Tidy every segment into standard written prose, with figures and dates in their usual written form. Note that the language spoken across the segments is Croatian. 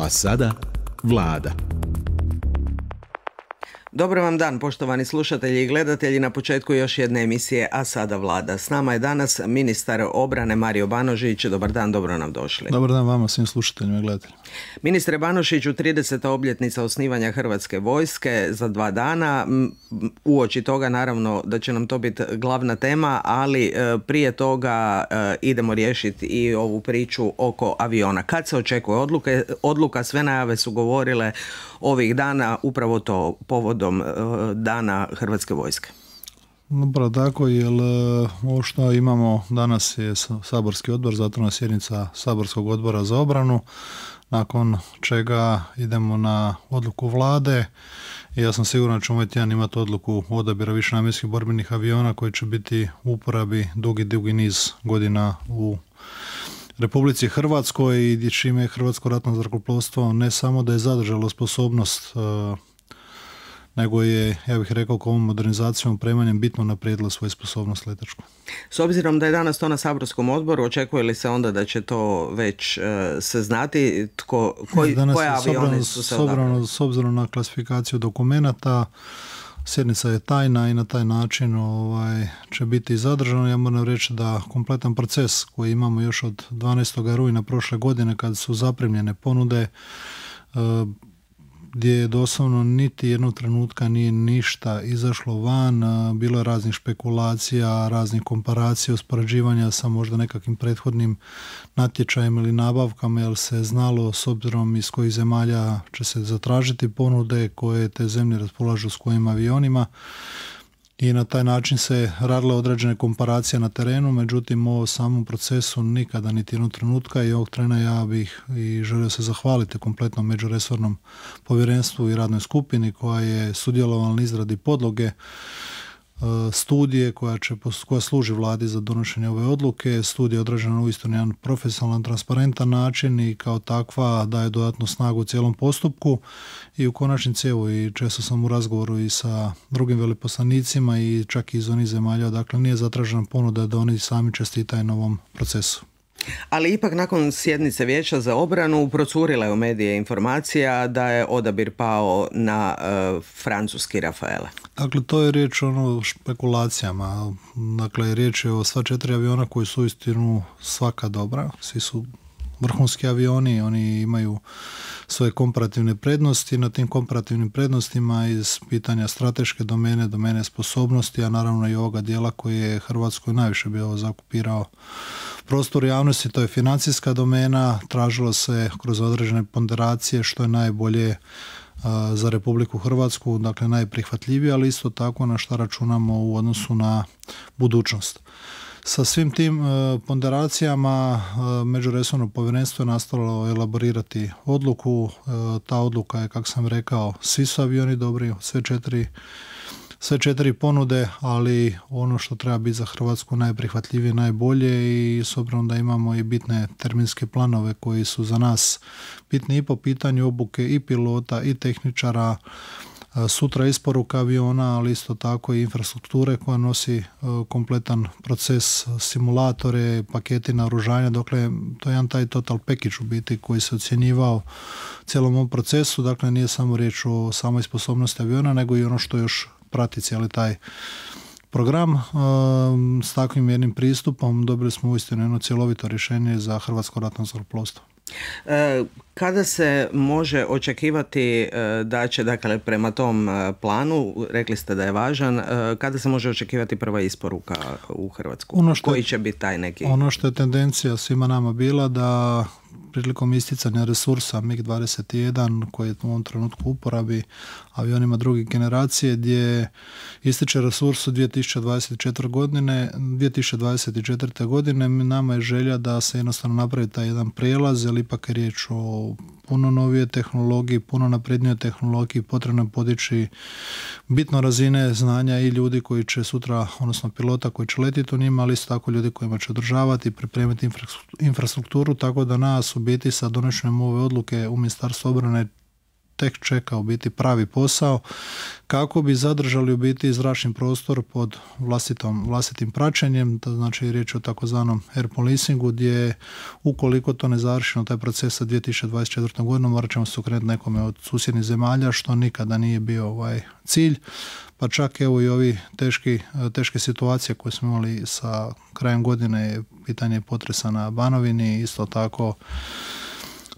A sada Vlada. Dobar vam dan, poštovani slušatelji i gledatelji, na početku još jedne emisije A sada Vlada. S nama je danas ministar obrane Mario Banožić. Dobar dan, dobro nam došli. Dobar dan vama, svim slušateljima i gledateljima. Ministre Banožiću, 30. obljetnica osnivanja Hrvatske vojske za 2 dana. Uoči toga naravno da će nam to biti glavna tema, ali prije toga idemo riješiti i ovu priču oko aviona. Kad se očekuje odluka? Sve najave su govorile ovih dana, upravo to povodom dana Hrvatske vojske. Upravo tako, jer ovo što imamo danas je saborski odbor, zatvorena sjednica saborskog odbora za obranu, nakon čega idemo na odluku Vlade i ja sam siguran da ćemo ovaj tjedan imati odluku odabira višenamjenskih borbenih aviona koji će biti u uporabi dugi niz godina u Republici Hrvatskoj i čime je Hrvatsko ratno zrakoplovstvo ne samo da je zadržalo sposobnost, nego je, ja bih rekao, ovom modernizacijom, opremanjem bitno naprijedilo svoju sposobnost letačku. S obzirom da je danas to na saborskom odboru, očekuje li se onda da će to već se znati koje avione su se odabrali? S obzirom na klasifikaciju dokumenata, sjednica je tajna i na taj način će biti zadržano. Ja moram reći da kompletan proces koji imamo još od 12. rujna prošle godine kad su zaprimljene ponude, gdje je doslovno niti jednog trenutka nije ništa izašlo van, bilo je raznih špekulacija, raznih komparacija, uspoređivanja sa možda nekakvim prethodnim natječajima ili nabavkama, jer se znalo s obzirom iz kojih zemalja će se zatražiti ponude, koje te zemlje raspolažu s kojim avionima. I na taj način se radile određene komparacije na terenu, međutim u samom procesu nikada niti jednog trenutka i ovog trena ja bih i želio se zahvaliti kompletnom međuresornom povjerenstvu i radnoj skupini koja je sudjelovala na izradi podloge studije koja služi Vladi za donošenje ove odluke. Studija je odrađena uistinu na jedan profesionalan, transparentan način i kao takva daje dodatnu snagu u cijelom postupku i u konačnici evo i često sam u razgovoru i sa drugim veleposlanicima i čak i iz onih zemalja, dakle nije zatražena ponuda da oni sami čestitaju na ovom procesu. Ali ipak nakon sjednice Vijeća za obranu procurila je u medije informacija da je odabir pao na francuski Rafaele. Dakle, to je riječ o špekulacijama. Dakle, riječ je o sva 4 aviona koji su uistinu svaka dobra. Svi su vrhunski avioni, oni imaju svoje komparativne prednosti. Na tim komparativnim prednostima iz pitanja strateške domene sposobnosti, a naravno i ovoga dijela koji je Hrvatskoj najviše bio zakupirao prostor javnosti, to je financijska domena. Tražilo se kroz određene ponderacije što je najbolje za Republiku Hrvatsku, dakle najprihvatljivije, ali isto tako na što računamo u odnosu na budućnost. Sa svim tim ponderacijama međuresorno povjerenstvo je nastavilo elaborirati odluku. Ta odluka je, kako sam rekao, svi su avioni dobri, sve 4 ponude, ali ono što treba biti za Hrvatsku najprihvatljivije, najbolje i s obzirom da imamo i bitne terminske planove koji su za nas bitni i po pitanju obuke i pilota i tehničara, sutra isporuka aviona, ali isto tako i infrastrukture koja nosi kompletan proces, simulatore, paketi naoružanja, dakle to je jedan taj total package u biti koji se ocjenjivao cijelom ovom procesu, dakle nije samo riječ o samoj sposobnosti aviona, nego i ono što još prati cijeli taj program. S takvim jednim pristupom dobili smo uistinu jedno cjelovito rješenje za Hrvatsko ratno zrakoplovstvo. Kada se može očekivati da će, dakle, prema tom planu, rekli ste da je važan, kada se može očekivati prva isporuka u Hrvatsku? Koji će biti taj neki? Ono što je tendencija svima nama bila da prilikom isticanja resursa MiG-21 koji je u ovom trenutku u uporabi avionima druge generacije gdje ističe resurs u 2024. godine, nama je želja da se jednostavno napravi taj jedan prijelaz, jer ipak je riječ o puno novije tehnologiji, puno naprednijoj tehnologiji, potrebno podići bitno razine znanja i ljudi koji će sutra, odnosno pilota koji će letiti u njima, ali isto tako ljudi kojima će održavati i pripremiti infrastrukturu, tako da nas u biti sa donošenjem ove odluke u Ministarstvu obrane tek čeka u biti pravi posao kako bi zadržali u biti zračni prostor pod vlastitim praćenjem, to znači riječ o takozvanom air policingu, gdje ukoliko to ne završimo taj proces sa 2024. godinom, morat ćemo se okrenuti nekome od susjednih zemalja, što nikada nije bio cilj. Pa čak evo i ovi teške situacije koje smo imali sa krajem godine, pitanje potresa na Banovini, isto tako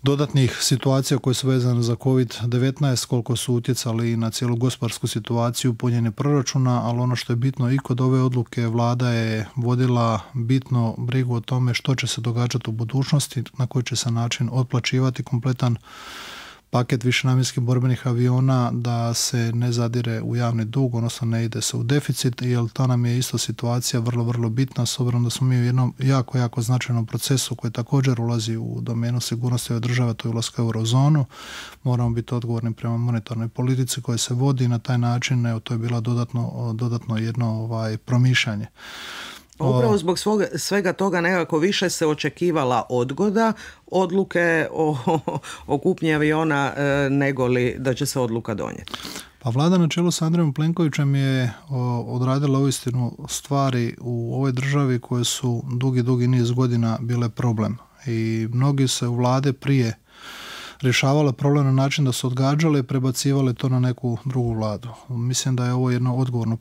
dodatnih situacija koje su vezane za COVID-19, koliko su utjecali na cijelu gospodarsku situaciju, punjenje proračuna, ali ono što je bitno i kod ove odluke, vlada je vodila bitno brigu o tome što će se događati u budućnosti, na koji će se način otplaćivati kompletan paket višenamjenskih borbenih aviona, da se ne zadire u javni dug, odnosno ne ide se u deficit, jer ta nam je isto situacija vrlo, vrlo bitna, s obzirom da smo mi u jednom jako, jako značajnom procesu koji također ulazi u domenu sigurnosti ove države, to je ulazak u eurozonu. Moramo biti odgovorni prema monetarnoj politici koja se vodi na taj način, evo to je bilo dodatno jedno promišljanje. Upravo zbog svega toga nekako više se očekivala odgoda odluke o kupnji aviona nego li da će se odluka donijeti. Pa vlada na čelu s Andrejom Plenkovićem je odradila uistinu stvari u ovoj državi koje su dugi niz godina bile problem. I mnogi se u vlade prije rješavale problem na način da su odgađale i prebacivale to na neku drugu vladu. Mislim da je ovo jedno odgovorno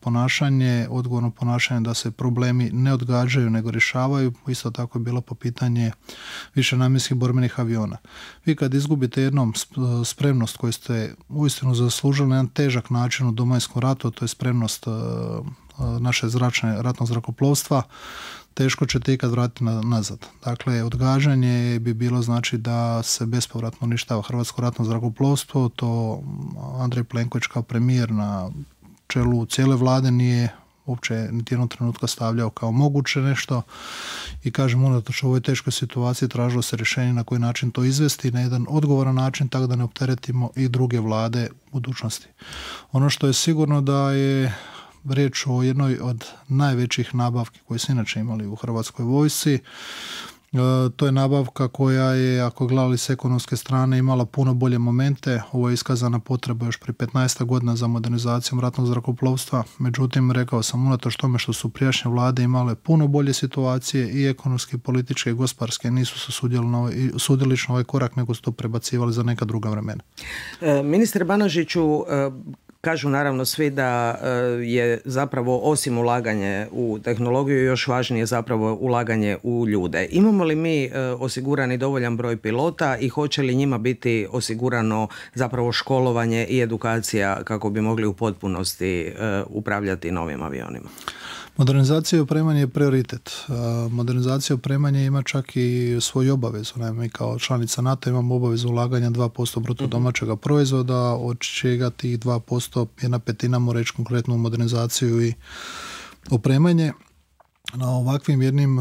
ponašanje da se problemi ne odgađaju nego rješavaju. Isto tako je bilo po pitanje višenamjenskih borbenih aviona. Vi kad izgubite jednom spremnost koju ste uistinu zaslužili na jedan težak način u Domovinskom ratu, to je spremnost naše ratnog zrakoplovstva, teško ćete ikad vratiti nazad. Dakle, odgađanje bi bilo znači da se bespovratno uništava hrvatsko ratno zrakoplovstvo, to Andrej Plenković kao premijer na čelu cijele vlade nije uopće niti jednog trenutka stavljao kao moguće nešto i kažem, unatoč u ovoj teškoj situaciji tražilo se rješenje na koji način to izvesti na jedan odgovoran način, tako da ne opteretimo i druge vlade u budućnosti. Ono što je sigurno da je riječ o jednoj od najvećih nabavki koje su inače imali u Hrvatskoj vojsci. To je nabavka koja je, ako gledali s ekonomske strane, imala puno bolje momente. Ovo je iskazana potreba još prije 15 godina za modernizacijom ratnog zrakoplovstva. Međutim, rekao sam, unatoč tome što su prijašnje vlade imale puno bolje situacije i ekonomske, političke i gospodarske, nisu se sudjeli na ovaj korak, nego su to prebacivali za neka druga vremena. Ministre Banožiću, kažu naravno svi da je zapravo osim ulaganje u tehnologiju još važnije zapravo ulaganje u ljude. Imamo li mi osigurani dovoljan broj pilota i hoće li njima biti osigurano zapravo školovanje i edukacija kako bi mogli u potpunosti upravljati novim avionima? Modernizacija i opremanje je prioritet. Modernizacija i opremanje ima čak i svoju obavezu. Mi kao članica NATO imamo obavezu ulaganja 2% bruto domaćega proizvoda, od čega tih 2%1/5 mora reći konkretnu modernizaciju i opremanje. Na ovakvim jednim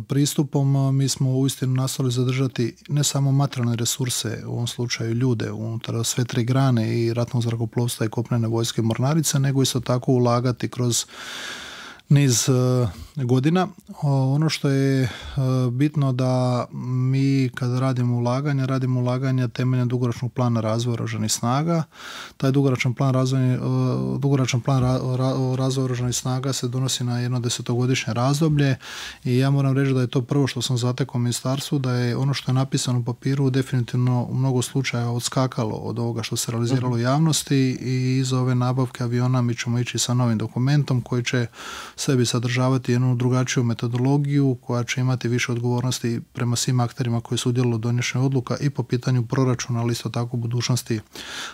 pristupom mi smo uistinu nastavili zadržati ne samo materijalne resurse, u ovom slučaju ljude, unutar sve tri grane i ratnog zrakoplovstva i kopnene vojske mornarice, nego isto tako ulagati kroz niz godina. Ono što je bitno da mi kada radimo ulaganja temeljem dugoročnog plana razvoja oružanih snaga. Taj dugoročan plan razvoja oružanih snaga se donosi na jedno 10-godišnje razdoblje i ja moram reći da je to prvo što sam zatekao u ministarstvu, da je ono što je napisano u papiru definitivno u mnogo slučaja odskakalo od ovoga što se realiziralo u javnosti i iz ove nabavke aviona mi ćemo ići sa novim dokumentom koji će sebi sadržavati jednu drugačiju metodologiju koja će imati više odgovornosti prema svim akterima koji su udjelovali u donošenju odluka i po pitanju proračuna, ali isto tako u budućnosti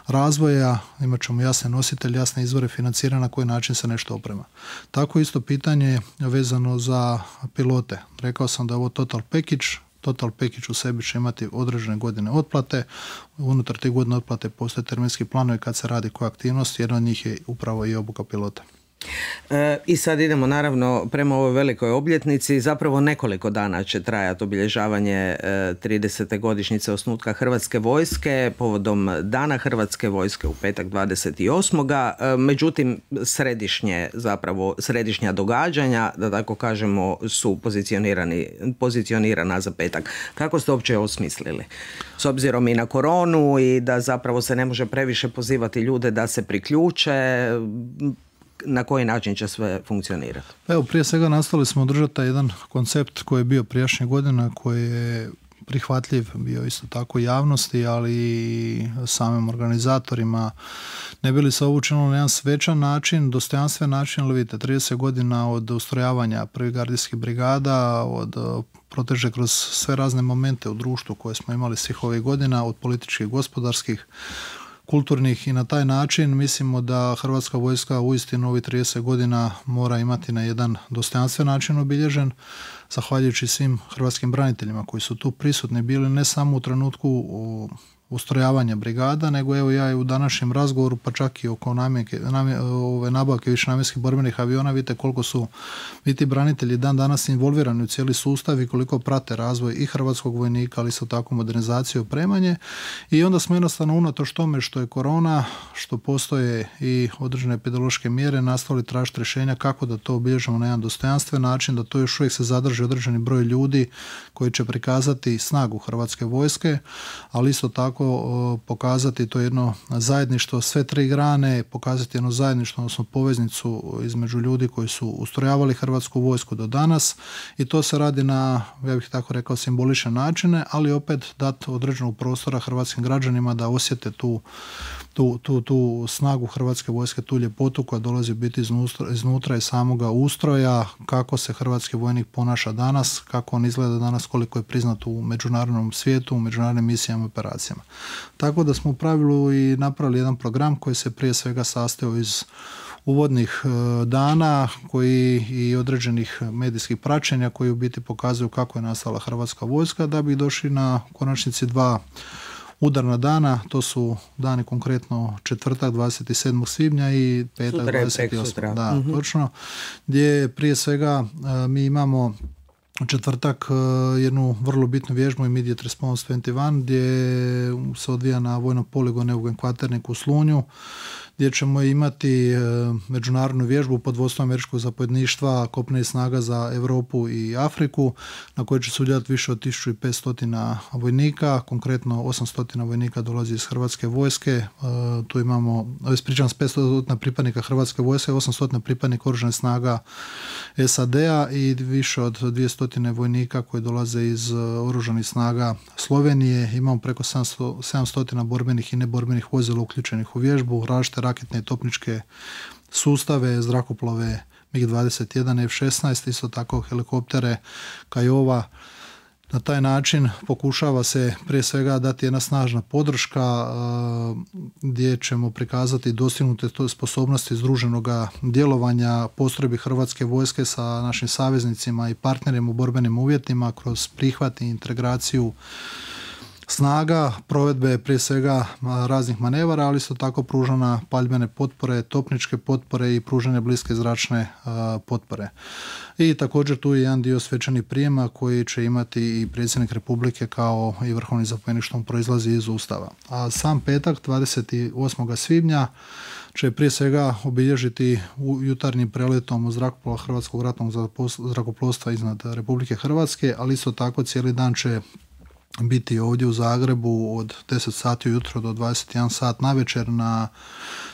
razvoja. Imat ćemo jasne nositelje, jasne izvore financiranja na koji način se nešto oprema. Tako isto pitanje vezano za pilote. Rekao sam da je ovo total package u sebi će imati određene godine otplate. Unutar tih godina otplate postoje terminski planovi kad se radi koja aktivnost, jedna od njih je upravo i obuka pilota. I sad idemo naravno prema ovoj velikoj obljetnici. Zapravo nekoliko dana će trajati obilježavanje 30. godišnjice osnutka Hrvatske vojske povodom Dana Hrvatske vojske u petak 28. Međutim, središnja događanja, da tako kažemo, su pozicionirana za petak. Kako ste uopće osmislili? S obzirom i na koronu i da zapravo se ne može previše pozivati ljude da se priključe, na koji način će sve funkcionirati? Evo, prije svega nastavili smo održati taj jedan koncept koji je bio prijašnje godina, koji je prihvatljiv bio isto tako javnosti, ali i samim organizatorima. Ne bi li se ovo učinilo na jedan svečan način, dostojanstven način, ali vidite, 30 godina od ustrojavanja prvih gardijskih brigada, od proteže kroz sve razne momente u društvu koje smo imali svih ovih godina, od političkih, gospodarskih, kulturnih, i na taj način mislimo da Hrvatska vojska uistinu ovih 30 godina mora imati na jedan dostojanstven način obilježen, zahvaljujući svim hrvatskim braniteljima koji su tu prisutni bili ne samo u trenutku ustrojavanja brigada, nego evo ja i u današnjem razgovoru, pa čak i oko nabavke višenamjenskih borbenih aviona, vidite koliko su ti branitelji dan danas involvirani u cijeli sustav i koliko prate razvoj i hrvatskog vojnika, ali isto tako modernizaciju i opremanje. I onda smo jednostavno unatoč tome što je korona, što postoje i određene epidemiološke mjere, nastavili tražiti rješenja kako da to obilježimo na jedan dostojanstven način, da to još uvijek se zadrži određeni broj ljudi koji će prikazati snagu Hrvatske vojske, ali isto tako pokazati to jedno zajedništvo, sve tri grane, pokazati jedno zajedništvo, odnosno poveznicu između ljudi koji su ustrojavali Hrvatsku vojsku do danas, i to se radi na, ja bih tako rekao, simbolične načine, ali opet dati određenog prostora hrvatskim građanima da osjete tu snagu Hrvatske vojske, tu ljepotu koja dolazi biti iznutra i samoga ustroja, kako se hrvatski vojnik ponaša danas, kako on izgleda danas, koliko je priznat u međunarodnom svijetu, u međunarodnim misijama i operacijama. Tako da smo u pravilu i napravili jedan program koji se prije svega sastojao iz uvodnih dana koji i određenih medijskih praćenja koji u biti pokazuju kako je nastala Hrvatska vojska, da bi došli na konačnici dva udarna dana. To su dani konkretno četvrtak 27. svibnja i petak 28. Da, točno. Gdje prije svega mi imamo četvrtak jednu vrlo bitnu vježbu Immediate Response 21 gdje se odvija na vojnom poligonu Eugen Kvaternik u Slunju, gdje ćemo imati međunarodnu vježbu pod vodstvom američkog zapovjedništva kopnenih snaga za Europu i Afriku, na kojoj će sudjelovati više od 1500 vojnika, konkretno 800 vojnika dolazi iz Hrvatske vojske, tu imamo, ispričavam se, 500 pripadnika Hrvatske vojske, 800 pripadnika oružanih snaga SAD-a i više od 200 vojnika koji dolaze iz oružanih snaga Slovenije. Imamo preko 700 borbenih i neborbenih vozila uključenih u vježbu, različite raketne i topničke sustave, zrakoplove MiG-21, F-16, isto tako helikoptere Kiowa. Na taj način pokušava se prije svega dati jedna snažna podrška gdje ćemo prikazati dostignute sposobnosti združenog djelovanja postrojbi Hrvatske vojske sa našim saveznicima i partnerima u borbenim uvjetima kroz prihvat i integraciju snaga, provedbe prije svega raznih manevara, ali isto tako pružana paljbene potpore, topničke potpore i pružanje bliske zračne potpore. I također tu je jedan dio svečanih prijema koji će imati i predsjednik Republike kao i vrhovni zapovjednik što proizlazi iz Ustava. A sam petak 28. svibnja će prije svega obilježiti jutarnjim preletom zrakoplova Hrvatskog ratnog zrakoplovstva iznad Republike Hrvatske, ali isto tako cijeli dan će biti ovdje u Zagrebu od 10 sati ujutro do 21 sat navečer na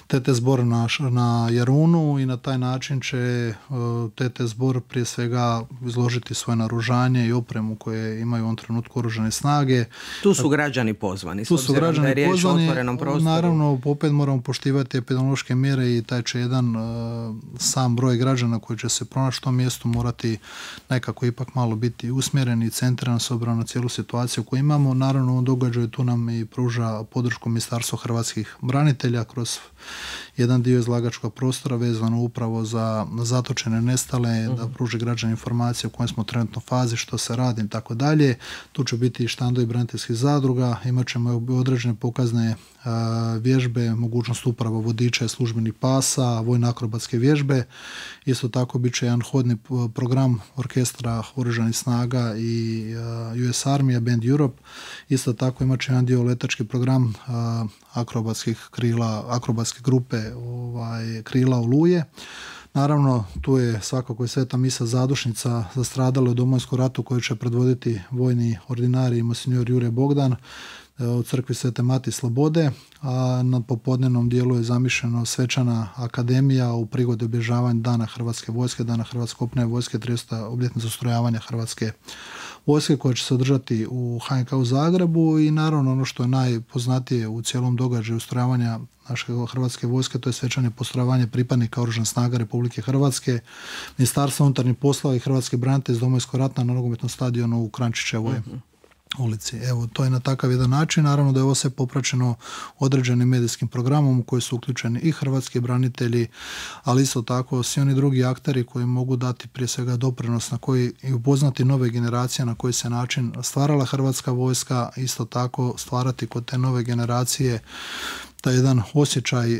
TT Zbor na Jarunu, i na taj način će TT Zbor prije svega izložiti svoje naoružanje i opremu koje imaju u ovom trenutku oružane snage. Tu su građani pozvani. Tu su građani pozvani, naravno prostoru. Opet moramo poštivati epidemiološke mjere i taj će jedan sam broj građana koji će se pronaći u tom mjestu morati nekako ipak malo biti usmjeren i centriran s obzirom na cijelu situaciju koju imamo. Naravno u događaju tu nam i pruža podršku Ministarstvo hrvatskih branitelja kroz jedan dio izlagačkog prostora vezano upravo za zatočene, nestale, da pruži građani informacije u kojoj smo trenutno fazi, što se radi i tako dalje. Tu će biti i štandovi braniteljskih zadruga, imat ćemo određene pokazne vježbe, mogućnost upravo vodiča i službenih pasa, vojno akrobatske vježbe. Isto tako bit će jedan hodni program orkestra Oružanih snaga i US Army, Band Europe. Isto tako imat će jedan dio letački program akrobatskih krila, akrobatske grupe krila Oluje. Naravno, tu je svakako i Sveta misa zadušnica za stradale u Domovinskom ratu koju će predvoditi vojni ordinarij monsignor Jure Bogdan u crkvi Svete Mati Slobode, a na popodnevnom dijelu je zamišljeno svečana akademija u prigodi obilježavanja Dana Hrvatske vojske, Dana Hrvatske kopnene vojske, 30. obljetnica ustrojavanja Hrvatske vojske koja će se održati u HNK u Zagrebu i naravno ono što je najpoznatije u cijelom događaju ustrojavanja naše Hrvatske vojske, to je svečano postrojavanje pripadnika Oružanih snaga Republike Hrvatske, Ministarstva unutarnjih poslova i hrvatske branitelje iz Domovinskog rata na nogometnom stadionu u Krančićevoj ulici. Evo, to je na takav jedan način. Naravno da je ovo sve popraćeno određenim medijskim programom u koji su uključeni i hrvatski branitelji, ali isto tako svi oni drugi akteri koji mogu dati prije svega doprinos na koji i upoznati nove generacije na koji se način stvarala Hrvatska vojska, isto tako stvarati kod te nove generacije taj jedan osjećaj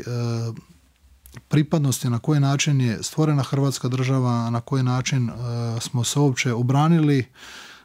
pripadnosti, na koji način je stvorena Hrvatska država, na koji način smo se uopće obranili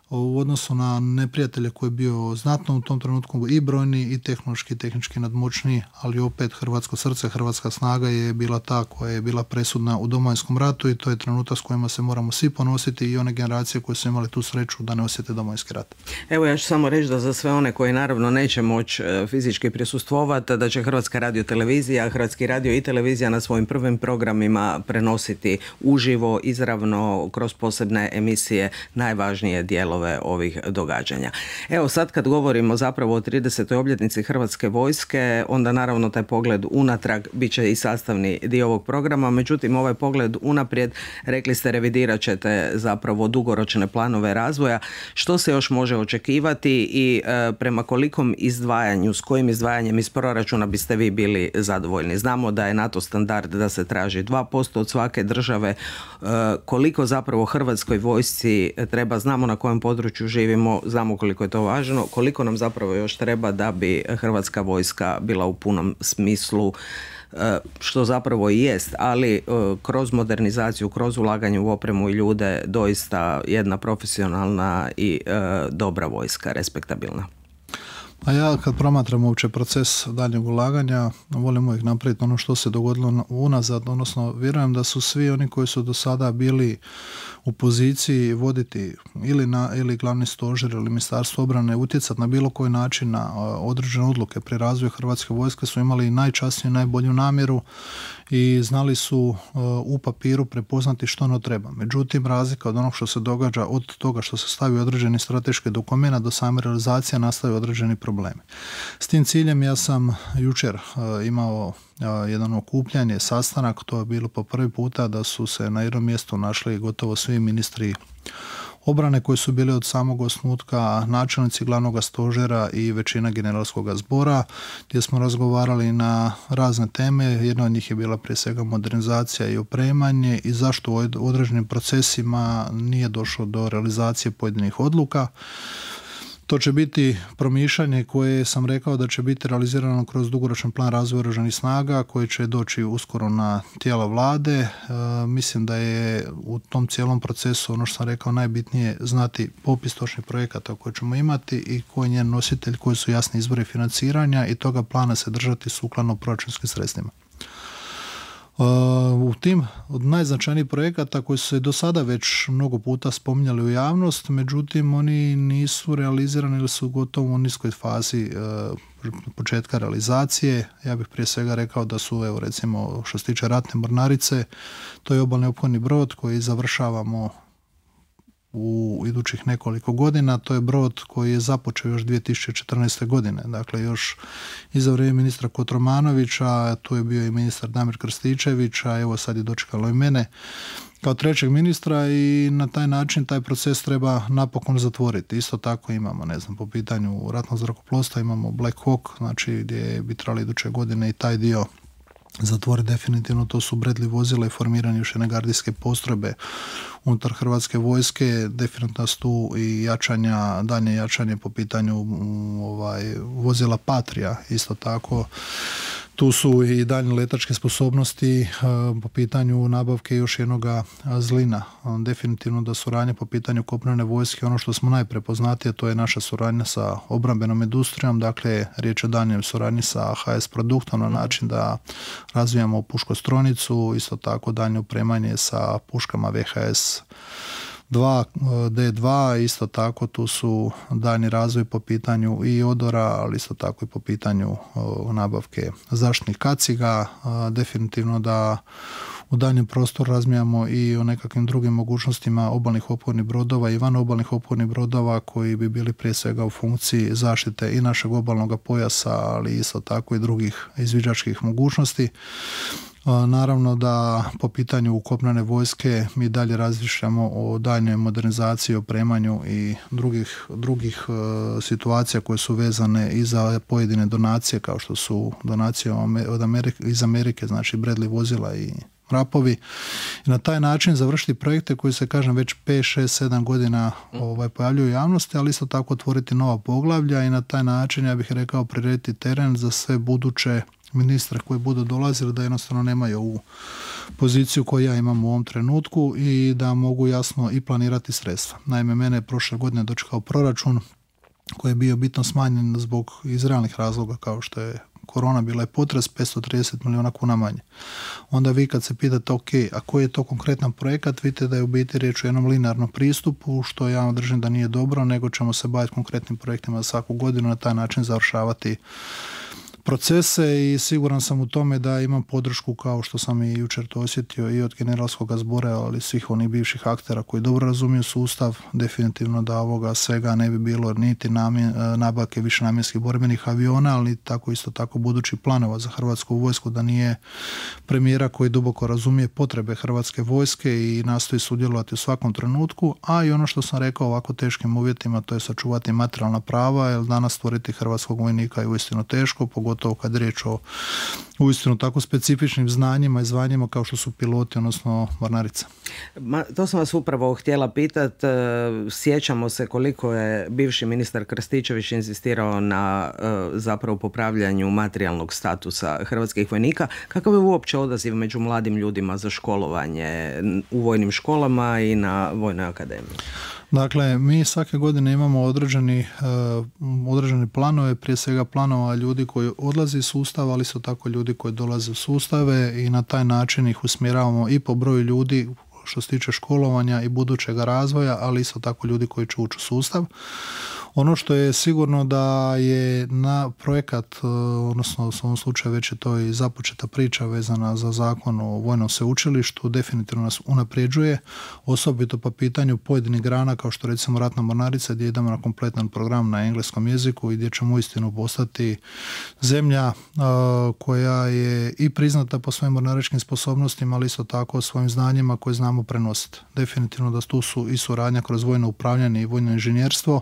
u odnosu na neprijatelje koji je bio znatno u tom trenutku i brojni i tehnološki i tehnički nadmoćniji, ali opet hrvatsko srce, hrvatska snaga je bila ta koja je bila presudna u Domovinskom ratu i to je trenutak s kojima se moramo svi ponositi i one generacije koje su imali tu sreću da ne osjete Domovinski rat. Evo ja ću samo reći da za sve one koji naravno neće moći fizički prisustvovati, da će Hrvatska radiotelevizija, Hrvatski radio i televizija na svojim prvim programima prenositi uživo, izravno, kroz posebne emisije najvažnije dijelove ovih događanja. Evo sad kad govorimo zapravo o 30. obljetnici Hrvatske vojske, onda naravno taj pogled unatrag bit će i sastavni dio ovog programa, međutim ovaj pogled unaprijed, rekli ste, revidirat ćete zapravo dugoročne planove razvoja. Što se još može očekivati i prema kolikom izdvajanju, s kojim izdvajanjem iz proračuna biste vi bili zadovoljni? Znamo da je NATO standard da se traži 2% od svake države. Koliko zapravo Hrvatskoj vojsci treba, znamo na kojem području živimo, znamo koliko je to važno, koliko nam zapravo još treba da bi Hrvatska vojska bila u punom smislu, što zapravo i jest, ali kroz modernizaciju, kroz ulaganje u opremu i ljude, doista jedna profesionalna i dobra vojska, respektabilna. A ja kad promatram uopće proces daljnjeg ulaganja, volim uvijek napraviti ono što se dogodilo unazad, odnosno vjerujem da su svi oni koji su do sada bili u poziciji voditi ili glavni stožer ili Ministarstvo obrane, utjecati na bilo koji način na određene odluke pri razvoju Hrvatske vojske su imali najčasniju, najbolju namjeru i znali su u papiru prepoznati što ono treba. Međutim, razlika od onog što se događa, od toga što se stavi određeni strateški dokument do same realizacije, nastaju određeni problemi. S tim ciljem ja sam jučer imao jedan okupljanje, sastanak, to je bilo po prvi puta da su se na jednom mjestu našli gotovo svi ministri obrane koji su bili od samog osnutka, načelnici glavnog stožera i većina generalskog zbora, gdje smo razgovarali na razne teme. Jedna od njih je bila prije svega modernizacija i opremanje i zašto u određenim procesima nije došlo do realizacije pojedinih odluka. To će biti promišljanje koje sam rekao da će biti realizirano kroz dugoročan plan razvoja Oružanih snaga koji će doći uskoro na tijela vlade. Mislim da je u tom cijelom procesu, ono što sam rekao, najbitnije znati popis točnih projekata koje ćemo imati i koji je njen nositelj, koji su jasni izvori financiranja i toga plana se držati sukladno proračunskim sredstvima. U tim od najznačajnijih projekata koji su se do sada već mnogo puta spominjali u javnost, međutim oni nisu realizirani ili su gotovo u niskoj fazi početka realizacije. Ja bih prije svega rekao da su, evo recimo što se tiče ratne mornarice, to je obalni ophodni brod koji završavamo u idućih nekoliko godina. To je brod koji je započeo još 2014. godine. Dakle, još iza vrijeme ministra Kotromanovića, tu je bio i ministar Damir Krstičević, a evo sad je dočekalo i mene kao trećeg ministra i na taj način taj proces treba napokon zatvoriti. Isto tako imamo, po pitanju ratnog zrakoplovstva imamo Black Hawk, znači gdje bi trebali iduće godine i taj dio zatvori definitivno, to su Bradley vozila i formiranje još jedne gardijske postrojbe unutar Hrvatske vojske. Definitivno su tu i daljnje jačanje po pitanju vozila Patria, isto tako. Tu su i daljnje letačke sposobnosti po pitanju nabavke još jednoga Zlina. Definitivno da suradnja po pitanju kopnene vojske, ono što smo najprepoznatije, to je naša suradnja sa obrambenom industrijom, dakle riječ je o daljnjoj suradnji sa HS Produktom na način da razvijamo puškostrojnicu, isto tako daljnje opremanje sa puškama VHS 2, D2, isto tako tu su daljnji razvoj po pitanju i odora, ali isto tako i po pitanju nabavke zaštitnih kaciga. Definitivno da u daljnjem prostoru razmijamo i o nekakvim drugim mogućnostima obalnih ophodnih brodova i van obalnih ophodnih brodova koji bi bili prije svega u funkciji zaštite i našeg obalnog pojasa, ali isto tako i drugih izviđačkih mogućnosti. Naravno da po pitanju kopnene vojske mi dalje razmišljamo o daljnjoj modernizaciji, opremanju i drugih situacija koje su vezane i za pojedine donacije, kao što su donacije iz Amerike, znači Bradley vozila i rapovi. I na taj način završiti projekte koji se, kažem, već 5, 6, 7 godina pojavljuju u javnosti, ali isto tako otvoriti nova poglavlja i na taj način, ja bih rekao, prirediti teren za sve buduće ministre koji budu dolazili, da jednostavno nemaju ovu poziciju koju ja imam u ovom trenutku i da mogu jasno i planirati sredstva. Naime, mene je prošle godine dočekao proračun koji je bio bitno smanjen zbog iz realnih razloga, kao što je korona, bila je potres, 530 milijuna kuna manje. Onda vi kad se pitate, ok, a koji je to konkretan projekat, vidite da je u biti riječ o jednom linearnom pristupu, što ja držim da nije dobro, nego ćemo se baviti konkretnim projektima za svaku godinu, na taj način završavati procese i siguran sam u tome da imam podršku, kao što sam i jučer to osjetio, i od generalskog zbora, ali svih onih bivših aktera koji dobro razumiju sustav. Definitivno da ovoga svega ne bi bilo niti nabavke višenamjenskih borbenih aviona, ali tako isto tako budućih planova za Hrvatsku vojsku, da nije premijera koji duboko razumije potrebe Hrvatske vojske i nastoji sudjelovati u svakom trenutku, a i ono što sam rekao, ovako teškim uvjetima, to je sačuvati materijalna prava, jer danas stvoriti hrvatskog vojnika je uistinu teško, pogotovo kad je riječ o uistinu tako specifičnim znanjima i zvanjima kao što su piloti, odnosno mornarica. To sam vas upravo htjela pitati. Sjećamo se koliko je bivši ministar Krstičević inzistirao na zapravo popravljanju materijalnog statusa hrvatskih vojnika. Kakav je uopće odaziv među mladim ljudima za školovanje u vojnim školama i na Vojnoj akademiji? Dakle, mi svake godine imamo određeni planove, prije svega planova ljudi koji odlaze iz sustava, ali su tako ljudi koji dolaze u sustave i na taj način ih usmjeravamo i po broju ljudi što se tiče školovanja i budućeg razvoja, ali isto tako ljudi koji će ući u sustav. Ono što je sigurno da je na projekat, odnosno u ovom slučaju već je to i započeta priča vezana za zakon o vojnom sveučilištu, definitivno nas unapređuje, osobito po pitanju pojedinih grana kao što recimo ratna mornarica, gdje idemo na kompletan program na engleskom jeziku i gdje ćemo uistinu postati zemlja koja je i priznata po svojim mornaričkim sposobnostima, ali isto tako svojim znanjima koje znamo prenositi. Definitivno da tu su i suradnja kroz vojno upravljanje i vojno inženjerstvo.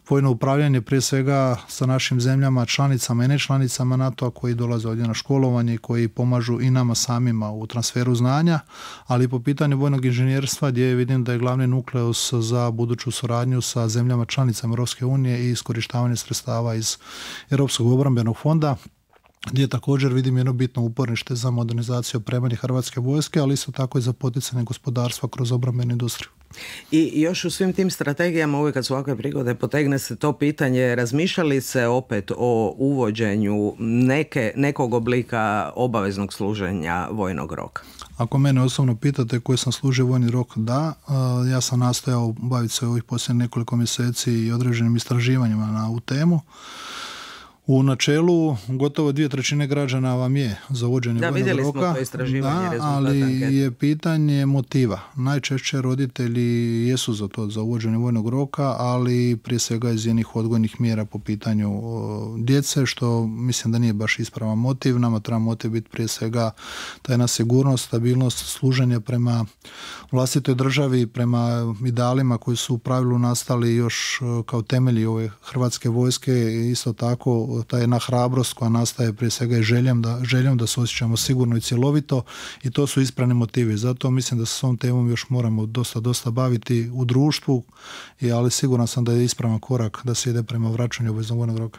Vojno upravljanje prije svega sa našim zemljama, članicama i nečlanicama NATO-a koji dolaze ovdje na školovanje i koji pomažu i nama samima u transferu znanja, ali i po pitanju vojnog inženjerstva gdje vidim da je glavni nukleus za buduću suradnju sa zemljama članicama Europske unije i iskorištavanje sredstava iz Europskog obrambenog fonda, gdje također vidim jedno bitno uporište za modernizaciju opremanja Hrvatske vojske, ali isto tako i za poticanje gospodarstva kroz obrambenu industriju. I još u svim tim strategijama, uvijek kad su ovakve prigode, potegne se to pitanje, razmišljali se opet o uvođenju nekog oblika obaveznog služenja vojnog roka? Ako mene osobno pitate koji sam služio vojni rok, da. Ja sam nastojao baviti se ovih posljednjih nekoliko mjeseci i određenim istraživanjima na ovu temu. U načelu gotovo 2/3 građana vam je za uvođenje vojnog roka. Da, vidjeli smo to istraživanje, rezultat ali ankete. Je pitanje motiva. Najčešće roditelji jesu za to, za uvođenje vojnog roka, ali prije svega iz jednih odgojnih mjera po pitanju djece, što mislim da nije baš ispravan motiv. Nama treba motiv biti prije svega ta jedna sigurnost, stabilnost, služenje prema vlastitoj državi, prema idealima koji su u pravilu nastali još kao temelji ove Hrvatske vojske, isto tako ta jedna hrabrost koja nastaje prije svega i željom da se osjećamo sigurno i cjelovito, i to su ispravni motivi. Zato mislim da se s ovom temom još moramo dosta baviti u društvu, ali siguran sam da je ispravan korak da se ide prema vraćanju obveznog vojnog roka.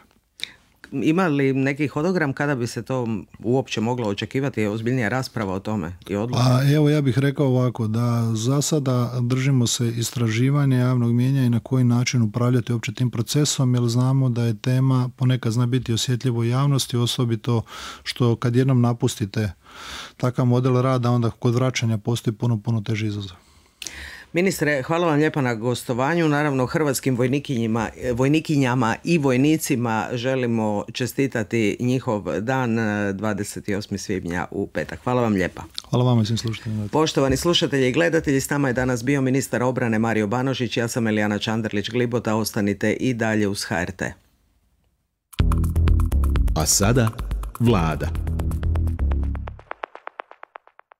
Ima li neki hodogram kada bi se to uopće moglo očekivati? Je ozbiljnija rasprava o tome i odluka? Evo, ja bih rekao ovako, da za sada držimo se istraživanja javnog mijenja i na koji način upravljati uopće tim procesom, jer znamo da je tema ponekad zna biti osjetljivo javnosti, osobito što kad jednom napustite takav model rada, onda kod vraćanja postoji puno teži izazov. Ministre, hvala vam lijepa na gostovanju. Naravno, hrvatskim vojnikinjama i vojnicima želimo čestitati njihov dan 28. svibnja u petak. Hvala vam lijepa. Hvala vama svim slušateljima. Poštovani slušatelji i gledatelji, s nama je danas bio ministar obrane Mario Banožić. Ja sam Elijana Čanderlić-Glibota. Ostanite i dalje uz HRT. A sada Vlada.